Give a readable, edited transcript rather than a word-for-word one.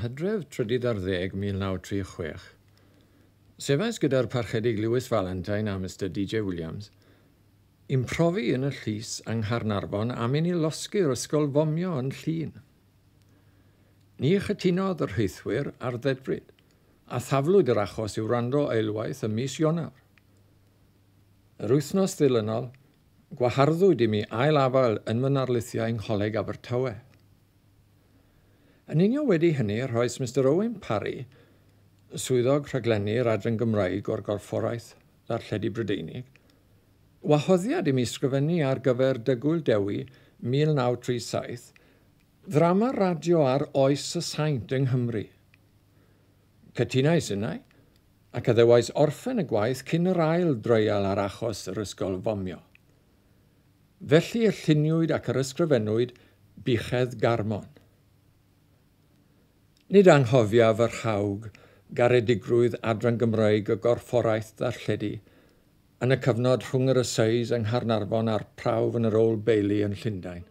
Hydref 13, 1936, sefais gyda'r Parchedig Lewis Valentine a Mr D.J. Williams i'm profi yn y llys yng Nghaernarfon am i ni losgi'r ysgol fomio yn Llŷn. Ni chytunodd y rheithwyr ar ddedfryd, a thaflwyd yr achos i'w wrando eilwaith ym mis Ionawr. Yr wythnos ddilynol, gwaharddwyd i mi ail-afael yn fy narlithiau yng Ngholeg Abertawe. Yn union wedi hynny, rhoes Mister Owen Parry, swyddog rhaglenni'r Adran Gymraeg o'r Gorfforaeth Ddarlledu Brydeinig, wahoddiad i mi sgrifennu ar gyfer Dygwyl Dewi 1937, ddrama radio ar Oes y Saint yng Nghymru. Cytunais innau, ac addewais orffen y gwaith cyn yr ail dreial ar achos yr ysgol fomio. Felly y lluniwyd ac yr ysgrifennwyd Buchedd Garmon. Nid anghofiaf yr hawg garedigrwydd Adran Gymraeg y Gorfforaeth Ddarlledu yn y cyfnod rhwng yr Assize yng Nghaernarfon a'r prawf yn yr Old Bailey yn Llundain.